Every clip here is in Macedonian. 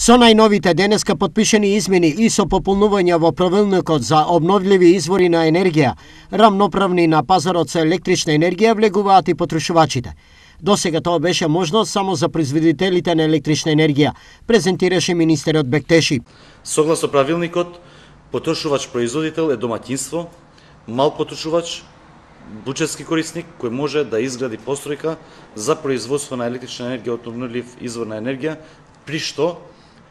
Со најновите денеска подпишени измени и со пополнување во правилникот за обновливи извори на енергија, рамноправни на пазарот со електрична енергија влегуваат и потрошувачите. Досега тоа беше можно само за производителите на електрична енергија, презентираше министерот Бектеши. Согласно правилникот, потрошувач-производител е домаќинство, мал потрошувач, буџетски корисник кој може да изгради постројка за производство на електрична енергија од обновлив извор на енергија, при што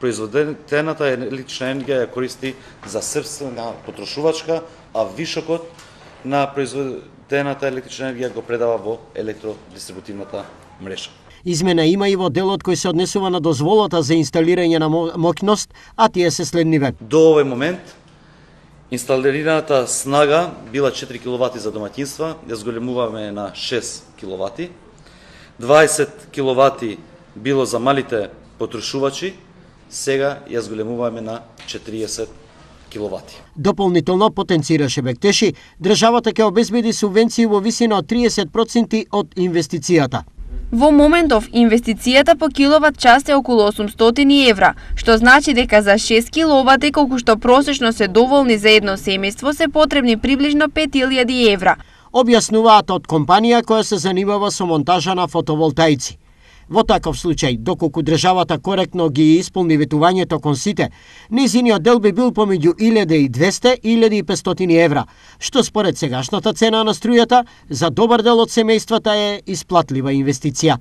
произведената електрична енергија ја користи за сопствена потрошувачка, а вишокот на произведената електрична енергија го предава во електродистрибутивната мрежа. Измена има и во делот кој се однесува на дозволата за инсталирање на моќност, а тие се следниве. До овој момент инсталираната снага била 4 киловати за домаќинства, ја зголемуваме на 6 киловати. 20 киловати било за малите потрошувачи, сега ја зголемуваме на 40 киловати. Дополнително потенцираше Бектеши, државата ќе обезбеди субвенции во висина од 30% од инвестицијата. Во моментов, инвестицијата по киловат час е околу 800 евра, што значи дека за 6 киловати, колку што просечно се доволни за едно семејство, се потребни приближно 5000 евра. Објаснуваат од компанија која се занимава со монтажа на фотоволтаици. Во таков случај, доколку државата коректно ги исполни ветувањето кон сите, нејзиниот дел би бил помеѓу 1200 и 1500 евра, што според сегашната цена на струјата за добар дел од семејствата е исплатлива инвестиција.